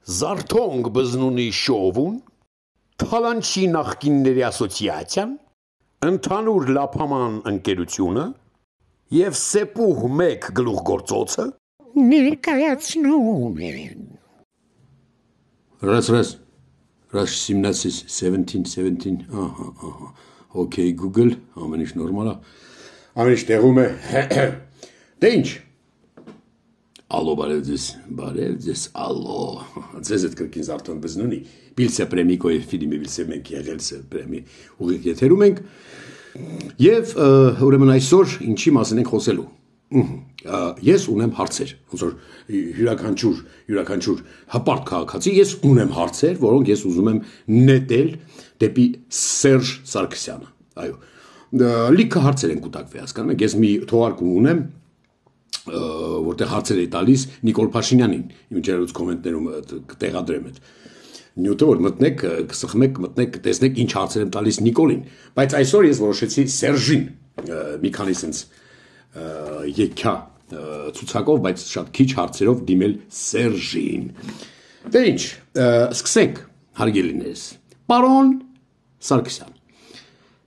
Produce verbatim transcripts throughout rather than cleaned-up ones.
Զարթոնք բզնունի շովում, թալանչի նախկինների ասոցիացիան, ընդհանուր լափաման ընկերությունը և սեպուհ մեկ գլուխգործոցը ներկայացնում են։ Раз, раз, раз семнадцать, seventeen, seventeen, ահա, ահա, okay, Google, ամեն ինչ նորմալ է, ամեն ինչ տեղում է, դե ինչ, ալո, բարև ձեզ, բարև ձեզ, ալո, ձեզ էդ կրկին Զարթոն բզնունի, Բիլսե պրեմիկոյ ֆիլմի Բիլսե մենք եղելսը պրեմի ուղիղ եթերում ենք, և ուրեմն այսօր ինչի մասին ենք խոսելու, ես ունեմ հարցեր, ոնց որ յուրաքանչյուր, յուրաքանչյուր հպարտ քաղաքացի, ես ունեմ հարցեր, որոնք ես ուզում եմ նետել դեպի Սերժ Սարգսյանը, այո, լիքը հարցեր են կուտակվի, հասկանում եք, ես մի թողարկում ունեմ, որտեղ հարցեր է տալիս Նիկոլ Փաշինյանին, իմ ջերուց կոմենտներում կտեղադրեմ այդ նյութը, որ մտնեք, կսխմեք, մտնեք, տեսնեք ինչ հարցեր եմ տալիս Նիկոլին, բայց այսօր ես որոշեցի Սերժին մի քանի սենց եկյա ցուցակով, բայց շատ քիչ հարցերով դիմել Սերժին։ Դե ինչ, սկսենք, հարգելիներս, պարոն Սարգսյան,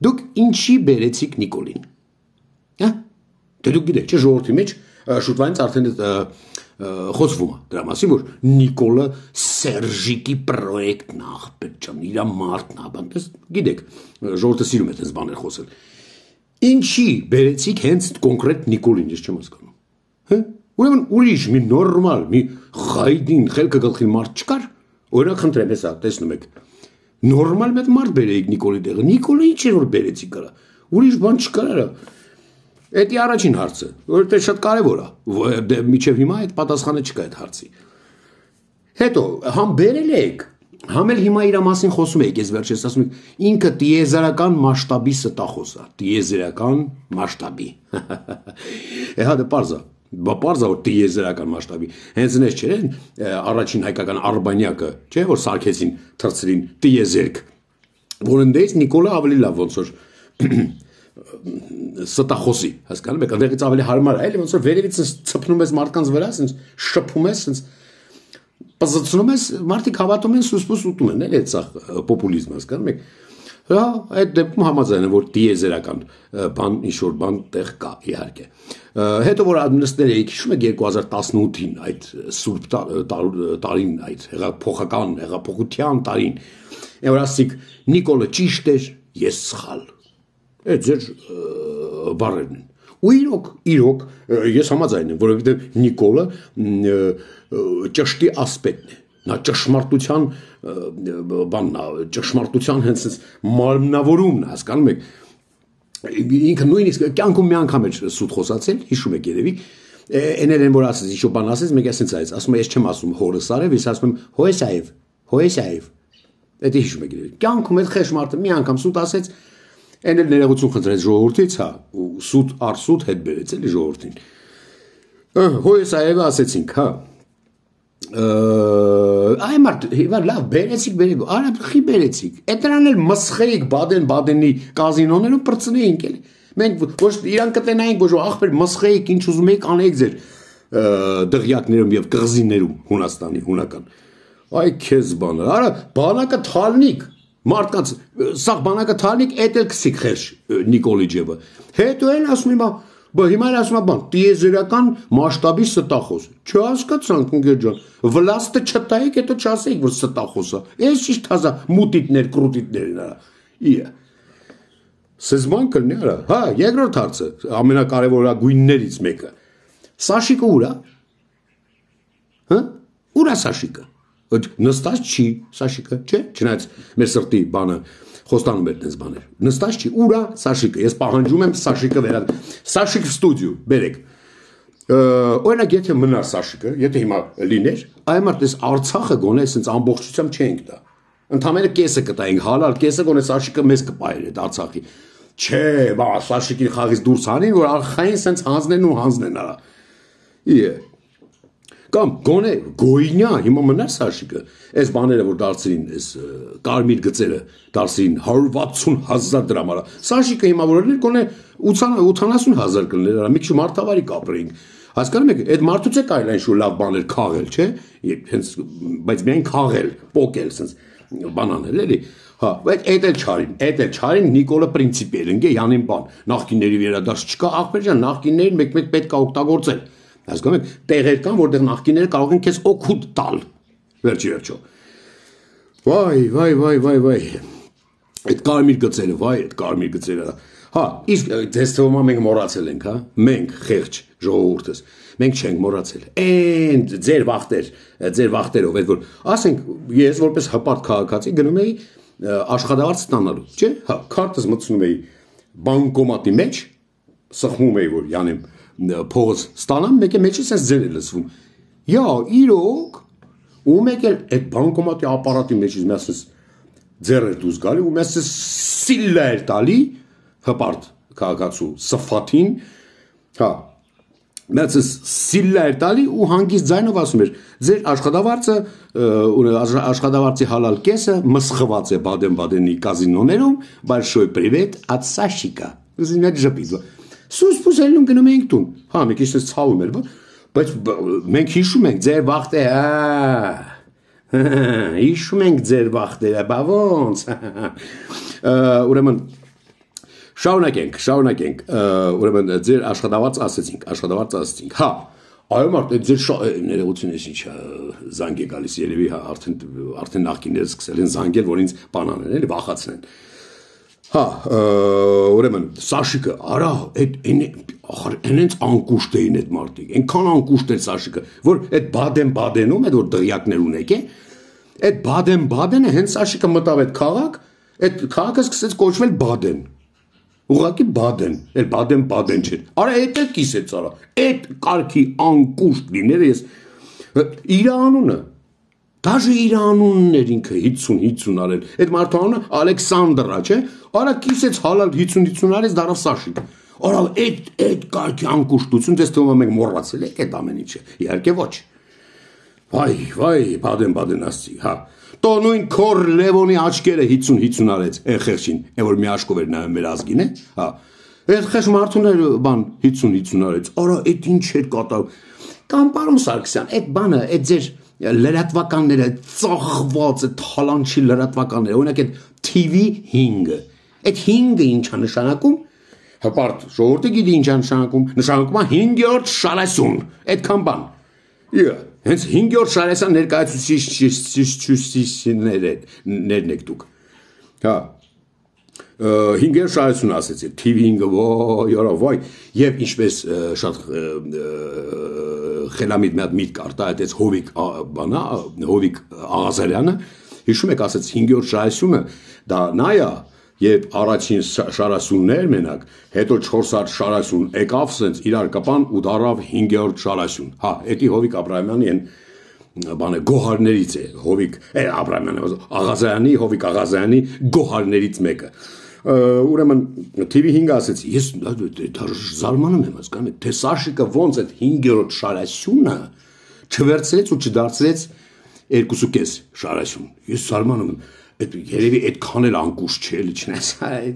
դուք ինչի բերեցիք Նիկոլին, դե դուք գիտեք, չէ ժողովրդի մեջ շուտվանից արդեն խոսվում է դրա մասին, որ Նիկոլը Սերժիկի պրոյեկտն է, աղբերջան, իրա մարդն է, բանտես գիտեք, ժողովրդը սիրում է տես բաներ խոսել։ Ինչի բերեցիք հենց կոնկրետ Նիկոլին, ես չեմ հասկանում։ Ուրեմն ուրիշ մի նորմալ, մի խայդին, խելքը գլխին մարդ չկար, օրինակ խնդրեմ, հեսա, տեսնում եք, նորմալ մեծ մարդ բերեիք Նիկոլի տեղը, Նիկոլը ինչ էր որ բերեցիք արա, ուրիշ բան չկար արա։ Էդի առաջին հարցը, որովհետև շատ կարևոր է, մինչև հիմա այդ պատասխանը չկա այդ հարցի։ Հետո, համ բերել եք, համ էլ հիմա իր մասին խոսում եք, ես վերջերս ասում եք, ինքը տիեզերական մասշտաբի ստախոս է, տիեզերական մասշտաբի։ Հա դե պարզ է, պարզ է որ տիեզերական մասշտաբի։ Հենց նես չէ, առաջին հայկական արբանյակը, չէ, որ սարքեցին, թռցրին տիեզերք, որ ընդդեից Նիկոլը ավելի լավ ոնց որ ստախոսի, հասկանում եք, ընդեղից ավելի հարմար է, էլի ոնց որ վերևից ցփնում ես մարդկանց վրա, ասենց շփում ես, ասենց պզծնում ես, մարդիկ հավատում են, սուսպուս ուտում են, էլի այդ սա պոպուլիզմ, հասկանում եք։ Հա, այդ դեպքում համաձայն եմ, որ տիեզերական բան, ինչ-որ բան տեղ կա, իհարկե։ Հետո որ նստել էիք, հիշում եք երկու հազար տասնութին այդ սուրբ տարին, այդ հեղափոխական, հեղափոխության տարին, որ ասիք Նիկոլը ճիշտ էր, ես սխալ։ Այդ ձեր բառերն են։ Ու իրոք, իրոք, ես համաձայն եմ, որովհետև Նիկոլը ճշտի ասպետն է, նա ճշմարտության բանն է, ճշմարտության հենց մարմնավորումն է, հասկանում եք, ինքը նույնիսկ կյանքում մի անգամ էր սուտ խոսացել, հիշում եք երևի, էնել են որ ասեց, ինչ-որ բան ասեց, մեկ ասենց այց, ասում է, ես չեմ ասում հորս արև, ես ասում եմ Հոեսայև, Հոեսայև, դա հիշում եք երևի, կյանքում այդ խեղճ մարդը մի անգամ սուտ ասեց, Են էլ ներողություն խնդրեց ժողովրդից, հա, ու սուտ արսուտ հետ բերեց էլի ժողովրդին։ Հոեսայևը ասեցինք, հա։ Այ մարդ, հիմա լավ, բերեցիք, բերեք, արա խի բերեցիք։ Էդրան էլ մսխեիք Բադեն-Բադենի կազինոներում պրծնեինք էլի։ Մենք ոչ իրան կտենայինք, ոչ ախպեր մսխեիք, ինչ ուզում եք անեիք ձեր դղյակներում եւ կղզիներում Հունաստանի, հունական։ Այ քեզ բանը, արա բանակը թալնիկ Մարդկանց սաղ բանակը թալնիկ էդ էլ կսիք խերջ Նիկոլի ջեբը։ Հետո էլ ասում հիմա, հիմա էլ ասում բան, տիեզերական մասշտաբի ստախոս։ Չհասկացանք ընկեր ջան, վլաստը չտայիք, հետո չասեիք, որ ստախոս է։ Էս ճիշտ հազա մուտիտներ, կրուտիտներ են արա։ Իա։ Սեզման կլնի արա։ Հա, երկրորդ հարցը, ամենակարևորագույններից մեկը։ Սաշիկը ուր է։ Հա։ Ուր է Սաշիկը։ Նստած չի Սաշիկը, չէ, չնայած մեր սրտի բանը խոստանում էր դες բաներ։ Նստած չի, ուր է Սաշիկը։ Ես պահանջում եմ Սաշիկը վերա Սաշիկ ստուդիո, բերեք։ Օրինակ եթե մնար Սաշիկը, եթե հիմա լիներ, այ մարդ էս Արցախը գոնե ասենց ամբողջությամբ չենք տա։ Ընդամենը կեսը կտայինք, հալալ կեսը գոնե Սաշիկը մեզ կպայեր այդ Արցախի։ Չէ, բա Սաշիկի խաղից դուրս հանին, որ արխային ասենց հանձնեն ու հանձնեն արա։ Իե Կամ գոնե գոյնյա, հիմա մնար Սաշիկը, այս բաները, որ դարձրին, այս կարմիր գծերը, դարձրին հարյուր վաթսուն հազար դրամ արա, Սաշիկը հիմա որ էր, գոնե ութանասուն հազար կլներ, մի քիչ մարդավարի կապրեինք, Հասկանում եք, այդ մարդուց է կարելի ինչ-որ լավ բաներ քաղել, չէ՞։ Հենց բայց միայն քաղել, պոկել, sense բանանել էլի։ Հա, բայց այդ էլ չարին, այդ էլ չարին Նիկոլը պրինցիպել ընկե յանին բան։ Նախկինների վերադարձ չկա, ախպեր ջան, նախկիններին մեկ-մեկ պետք է օգտագործել։ Հասկանում եք, տեղեր կան, որտեղ նախկինները կարող են քեզ օգուտ տալ։ Վերջի վերջո։ Վայ, վայ, վայ, վայ, վայ։ Այդ կարմիր գծերը, վայ, այդ կարմիր գծերը։ Հա, իսկ դες թվում է մենք մոռացել ենք, հա։ Մենք խեղճ ժողովուրդս։ Մենք չենք մոռացել։ Էն ձեր վախտեր, ձեր վախտերով, այդ որ ասենք ես որպես հպարտ քաղաքացի գնում էի աշխատավարձ ստանալու, չէ՞։ Հա, քարտս մտցնում էի բանկոմատի մեջ, սխմում էի որ յանեմ փողս ստանամ, մեկը մեջից էս ձեր է լսվում։ Յա, իրոք, ու մեկ էլ այդ բանկոմատի ապարատի մեջից մեզ ձեր էր դուրս գալի, ու մեզ սիլլա էր տալի հպարտ քաղաքացու սֆաթին, հա, մեծ սիլլա էր տալի ու հանգիստ ձայնով ասում էր, ձեր աշխատավարձը, աշխատավարձի հալալ կեսը մսխված է Բադեն-Բադենի կազինոներում, большой привет от Сашика։ Ուզին այդ ժպից։ Սուս պուսելնում գնում էինք տուն։ Հա, մի քիչ ցավում էր, բայց մենք հիշում ենք ձեր վախտը, հա։ Հիշում ենք ձեր վախտերը, բա ոնց։ Ուրեմն շարունակենք, շարունակենք, ուրեմն ձեր աշխատավարձ ասեցինք, աշխատավարձ ասեցինք, հա, այո մարդ, այդ ձեր ներողություն ես ինչ զանգ է գալիս, երևի հա, արդեն նախկինները սկսել են զանգել, որ ինձ բանանեն, էլի վախացնեն, հա, ուրեմն, Սաշիկը, արա, այնենց անկուշտ էին այդ մարդիկ, այնքան անկուշտ էր Սաշիկը, որ այդ Բադեն-Բադենում, այդ որ դղյակներ ունեք է, այդ Բադեն-Բադենը հենց Սաշիկը մտավ այդ քաղաք, այդ քաղաքը սկսեց կոչվել Բադեն։ Ուղղակի Բադեն, էլ Բադեն-Բադեն չէր։ Արա այդ էլ կիսեց արա։ Այդ կարգի անկուշտ լիները ես իր անունը, դաժե իր անունն էր ինքը հիցուն հիցուն արել։ Այդ մարդու անունը Ալեքսանդրա, չէ։ Արա կիսեց հալալ հիցուն հիցուն արեց դարավ Սաշիկ։ Արա այդ այդ կարգի անկուշտություն դες թվում է մենք մոռացել ենք այդ ամեն ինչը։ Իհարկե ոչ։ Վայ, վայ, Բադեն-Բադեն ասցի, հա։ Տո նույն քոր Լևոնի աչքերը հիցուն հիցուն արեց այն խեղճին, այն որ մի աշկով էր նայում մեր ազգին է, հա։ Այդ խեղճ մարդուն էր բան հիցուն հիցուն արեց։ Արա, այդ ինչ էր կատարում։ Կամ պարոն Սարգսյան, այդ բանը, այդ ձեր լրատվականները ծախված, այդ հալանչի լրատվականները, օրինակ այդ T V հինգը։ Այդ հինգը ինչ է նշանակում։ Հպարտ ժողովուրդը գիտի ինչ է նշանակում։ Նշանակում է հինգերորդ շարասուն։ Այդքան բան։ Իա Հենց հինգերորդ շարասան ներկայացուցիչներն եք դուք։ Հա։ Հինգերորդ շարասուն ասեցի, T V հինգը, ոյ, արա, վայ, եւ ինչպես շատ խելամիտ մի հատ միտք արտա այդպես Հովիկ բանա, Հովիկ Աղազարյանը, հիշում եք ասեց հինգերորդ շարասունը, դա նա է, երբ առաջին շարասուններ մենակ, հետո չորսարդ շարասուն եկավ, սենց իրար կպան ու դարավ հինգերորդ շարասուն։ Հա, էդի Հովիկ Աբրահամյանի են բանը գոհարներից է, Հովիկ Աբրահամյանը, Աղազարյանի, Հովիկ Աղազարյանի գոհարներից մեկը։ Ուրեմն T V հինգը ասեցի, ես զարմանում եմ, հասկանում եք, թե Սաշիկը ոնց այդ հինգերորդ շարասյունը չվերցրեց ու չդարձրեց երկուսուկես շարասյուն։ Ես զարմանում եմ։ Երևի այդքան էլ անկուշտ չէ, էլի չնայած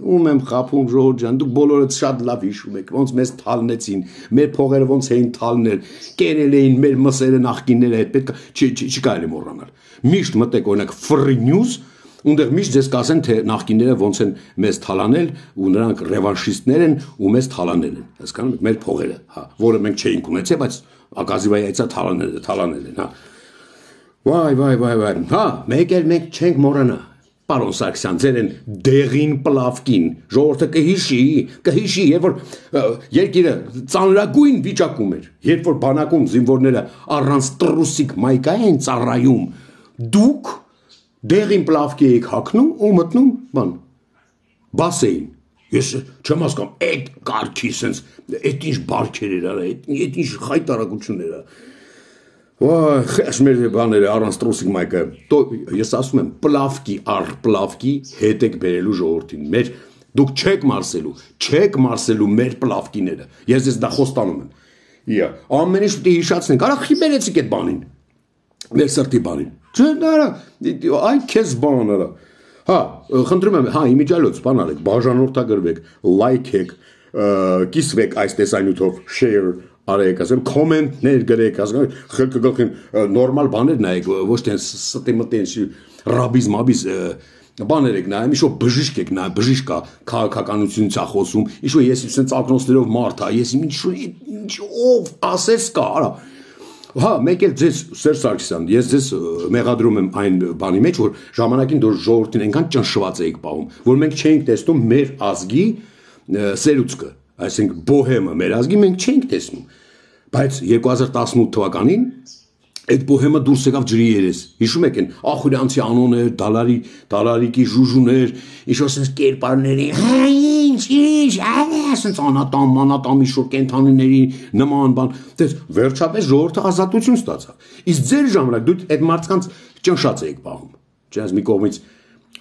ում եմ խափում ժողովուրդ ջան, դուք բոլորդ շատ լավ հիշում եք, ոնց մեզ թալնեցին, մեր փողերը ոնց էին թալնել, կերել էին մեր մսերը նախկինները, այդ պետք է չկարելի մոռանալ։ Միշտ մտեք օրինակ Free News, ունդեղ միշտ ձեզ կասեն, թե նախկինները ոնց են մեզ թալանել ու նրանք ռևանշիստներ են ու մեզ թալանել են, հասկանում եք, մեր փողերը, հա, որը մենք չէինք ունեցել, բայց ակազիվայացա թալանել, թալանել են, հա։ Վայ, վայ, վայ, վայ, հա, մեկ էլ մենք չենք մոռանա, պարոն Սարգսյան, ձեր են դեղին պլավկին, ժողովուրդը կհիշի, կհիշի, երբ որ երկիրը ծանրագույն վիճակում էր, երբ որ բանակում զինվորները առանց տրուսիկ մայկա են ծառայում, դուք դեղին պլավկի եք հագնում ու մտնում, բան, բասեին, ես չեմ հասկանում, այդ կարգի սենց, այդ ինչ բարքեր էր, այդ ինչ խայտարակություն էր, Խես մեր բաները առանց տրուսիկ մայկը, ես ասում եմ, պլավկի առ պլավկի հետ եք բերելու ժողովրդին, մեր, դուք չեք մարսելու, չեք մարսելու մեր պլավկիները, ես ես դա խոստանում եմ, իա, ամեն ինչ պետք է հիշացնենք, արա խիբերեցիք այդ բանին, մեր սրտի բանին, չէ, այ քեզ բան արա, հա, խնդրում եմ, հա, իմիջիալոց, բան արեք, բաժանորդագրվեք, լայք եք, կիսվեք այս տեսանյութով, share արեք, ասեմ, կոմենտներ գրեք, ասեմ, խելքը գլխին նորմալ բաներ նայեք, ոչ թե ստի մտեն ռաբիզ մաբիզ բաներ եք նայում, ինչ-որ բժիշկ եք նայում, բժիշկ կա, քաղաքականությունից է խոսում, ինչ-որ ես sense ակնոցներով մարդ է, ես ինչ-որ ինչ-ով ասես կա, արա։ Հա, մեկ էլ ձեզ Սերժ Սարգսյան, ես ձեզ մեղադրում եմ այն բանի մեջ, որ ժամանակին դուք ժողովրդին այնքան ճնշված էիք պահում, որ մենք չէինք տեսնում մեր ազգի սերուցքը, այսինքն բոհեմը մեր ազգի մենք չէինք տեսնում, բայց երկու հազար տասնութ թվականին այդ բոհեմը դուրս եկավ ջրի երես, հիշում եք են Ախուրյանցի անոներ, դալարի, դալարիկի ժուժուներ, ինչ-որ sense կերպարների, հա ինչ, ինչ, ասենց անատամ, անատամի շոր կենթանիների նման բան, դες վերջապես ժողովուրդը ազատություն ստացավ։ Իսկ ձեր ժամանակ դուք այդ մարդկանց ճնշած էիք պահում։ Չնայած մի կողմից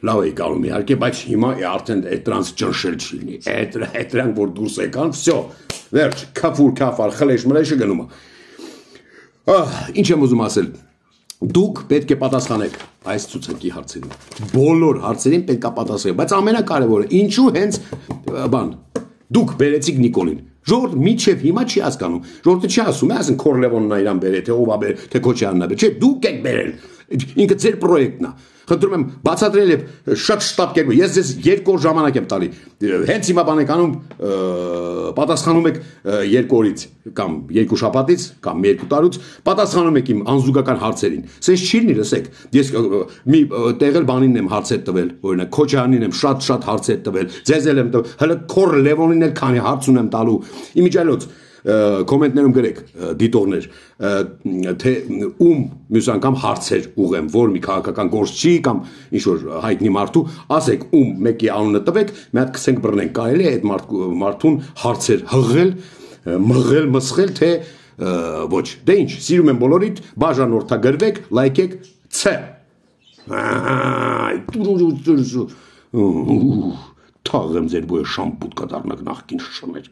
լավ էի կարում իհարկե, բայց հիմա արդեն այդ տրանս ճնշել չի լինի։ Այդ այդ դրանք որ դուրս եկան, վсё, վերջ, քաֆուր քաֆար, խլեշ մլեշը գնում է։ Ինչ եմ ուզում ասել, դուք պետք է պատասխանեք այս ցուցակի հարցերին, բոլոր հարցերին պետք է պատասխանեք, բայց ամենակարևորը, ինչու հենց բան, դուք բերեցիք Նիկոլին, ժողովուրդը մինչև հիմա չի հասկանում, ժողովուրդը չի ասում, ասեն Քորլևոնն է իրան բերել, թե ով է բերել, թե Քոչարյանն է բերել, չէ, դուք եք բերել, ինքը ձեր պրոյեկտն է։ Խնդրում եմ բացատրել եւ շատ շտապ կերպով ես ձեզ երկու օր ժամանակ եմ տալի հենց հիմա բան եք անում պատասխանում եք երկու օրից կամ երկու շաբաթից կամ երկու տարուց պատասխանում եք իմ անզուգական հարցերին սենց չի լինի լսեք ես մի տեղել բանին եմ հարցեր տվել օրինակ Քոչարյանին եմ շատ շատ հարցեր տվել ձեզ էլ եմ տվել հələ Քոր Լևոնին էլ քանի հարց ունեմ տալու իմիջիայլոց կոմենտներում գրեք դիտողներ թե ում մյուս անգամ հարցեր ուղեմ որ մի քաղաքական գործ չի կամ ինչ որ հայտնի մարդու ասեք ում մեկի անունը տվեք մի հատ քսենք բռնենք կարելի է այդ մարդուն հարցեր հղել մղել մսխել թե ոչ դե ինչ սիրում եմ բոլորիդ բաժանորդագրվեք լայքեք ց թաղեմ ձեր բոյը շամպուտ կդառնաք նախքին շշմեր